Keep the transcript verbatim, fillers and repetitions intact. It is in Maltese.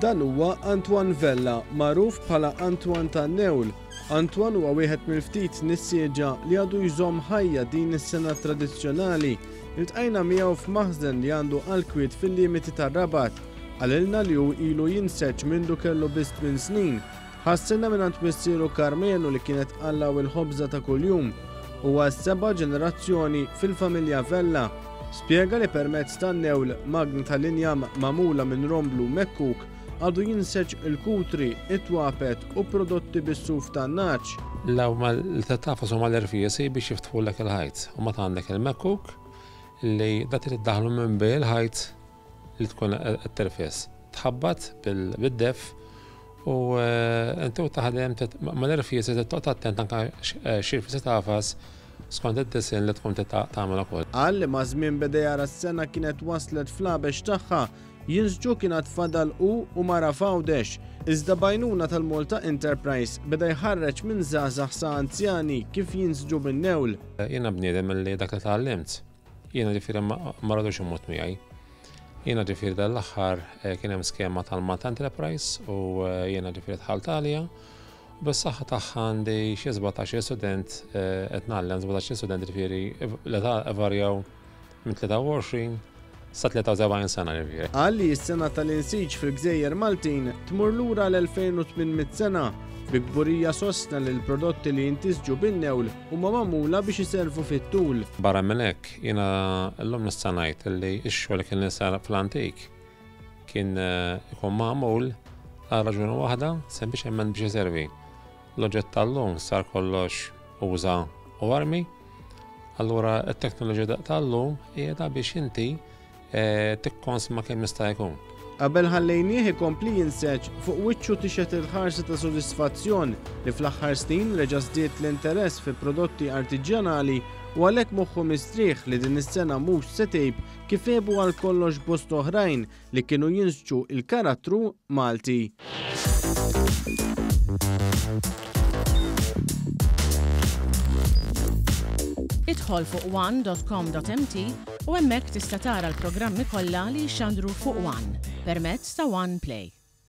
Dan huwa Antoine Vella, magħruf bħala Antoine tan-Newl. Antoine huwa wieħed mill-ftit nissieġa li għadu jżomm ħajja din is-sengħa tradizzjonali. Iltqajna miegħu f'maħżen li għandu għall-kwiet fil-limiti tar-Rabat. Qalilna li hu ilu jinseġ mindu kellu biss tmien snin. Ħa s-sengħa mingħand missieru Karmenu li kienet tqallgħu il-ħobża ta' kuljum. Huwa s-seba' ġenerazzjoni fil-familja Vella. Spjega li permezz tan-newl, magna tal-injam magħmula minn romblu mekkuk, għadu jinseġ il-kutri, it-twapet u prodotti bis-suf tan-nagħaġ. L-ewwel li tagħfas huma l-irfiesi biex jiftħulek il-ħajt. U meta għandek il-mekkuk li da trid iddaħħlu minn bejn il-ħajt li tkun qed tirfes. Tħabbat bid-def u inti u taħdem mal-irfiesi toqgħod attent anke x'irfiesi tagħfas skont id-disinn li tkun tagħmel ukoll. Qal li maż-żmien beda jara s-sengħa kienet waslet fl-għabex tagħha. Jinsġu kien għad fadal u u mara f'Għawdex. Iżda b'għajnuna tal-Malta Enterprise beda jħarreġ minn żgħażagħ sa anzjani kif jinsġu bin-newl. Jiena bniedem li dak li tgħallimt, jiena ġifieri ma rridux imut miegħi. Jiena ġifieri dal-aħħar kien hemm skema tal-Malta Enterprise u jiena ġifieri dħalt għalija. Bis-saħħa tagħha għandi xi sbatax-il student, qed ngħallem sbatax-il student, ġifieri l-età varjaw minn tlieta u għoxrin sa tlieta u sebgħin sena ġifieri. Qal li s-sengħa tal-insiġ fil-Gżejjer Maltin tmur lura l-elfejn u tmien mitt sena. Bi kburija sostna li l-prodotti li jintisġu bin-newl huma magħmula biex iservu fit-tul. Barra minn hekk, jiena llum nista' ngħid li x-xogħol kien sar fl-antik kien ikun magħmul għal raġuni waħda, sempliċement biex iservi. L-oġġett tal-lum sar kollox uża u armi, allura t-teknoloġija tal-lum hija biex inti tikkonsma kemm jista' jkun. Qabel ħallejnieh ikompli jinseġ, fuq wiċċu tixhed il-ħarsa ta' sodisfazzjon li fl-aħħar snin reġa' żdied l-interess fi prodotti artiġjanali u għalhekk moħħu mistrieħ li din is-sengħa mhux se tgħib kif għebu għal kollox bost oħrajn li kienu jinsġu il-karattru Malti. Idħol fuq one dot com dot M T u hemmhekk tista' tara l-programmi kollha li jxandru fuq One permezz ta' One Play.